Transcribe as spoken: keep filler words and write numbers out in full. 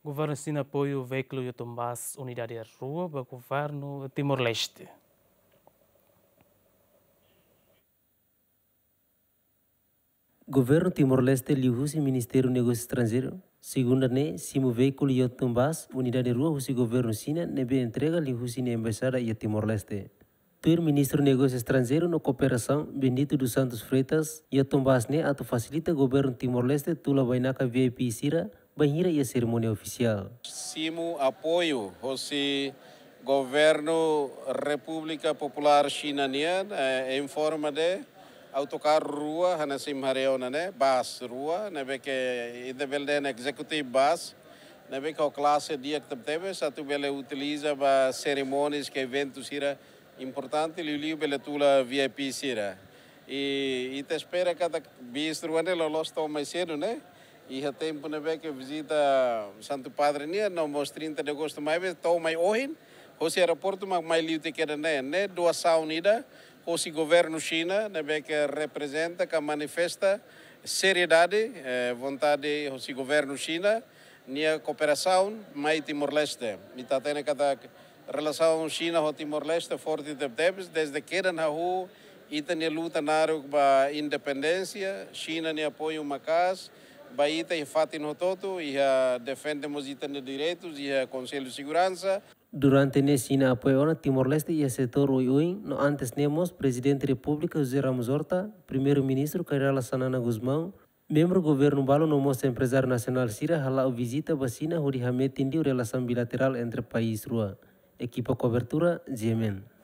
Governu Xina apoiu veíkulu Yotun Bus unidade rua ba governu Timor-Leste. Governu Timor-Leste liuhusi Ministériu Negósiu Estranjeiru, segunda ne'e, simu veíkulu Yotun Bus unidade rua husi governu Xina ne'ebé entrega liuhusi nia embaixada iha Timor-Leste. Tuir Ministru Negósiu Estranjeiru no Kooperasaun, Bendito dos Santos Freitas, Yotun Bus ne'e atu fasilita governu Timor-Leste tula bainaka V I P sira bainhira iha serimónia ofisiál. Simu apoiu hosi governu Repúblika Populár Xina nian, eh, em forma de autocarro rua, hanesan imi haree ona ne'e, bus rua, ne'ebé ke ita bele dehan executive bus, ne'ebé ke ho klase di'ak tebetebes, atu bele utiliza ba serimónias ka eventu sira importante, liuliu bele tula V I P sira. I ita espera katak bus rua ne'e loloos to'o mai sedu ne'e. Iha tempu ne'ebé ke vizita Santu Padre nian, no mós trinta de agostu mai be, to'o mai ohin, hosi aeroportu mak mai liu tiha kedas ne'e, ne'e doasaun ida hosi governu Xina, ne'ebé ke reprezenta ka manifesta seriedade, eh, vontade hosi governu Xina, nia kooperasaun mai Timor-Leste. Ita hatene katak relasaun Xina ho Timor-Leste forte tebetebes, desde kedan hahú ita-nia luta naruk ba independénsia, Xina nia apoiu maka'as ba ita iha fatin hotu-hotu, iha defende mós ita-nia direitus, iha Konsellu Seguransa. Durante ne'e Xina apoia ona Timor-Leste iha setór oioin, no antes ne'e mós Prezidente Repúblika José Ramos Horta, Primeiru-Ministru Kay Rala Xanana Gusmão, membru governu balu no mós emprezáriu nasionál sira hala'o vizita ba Xina hodi hametin liu relasaun bilaterál entre país rua. Ekipa kobertura, G M N.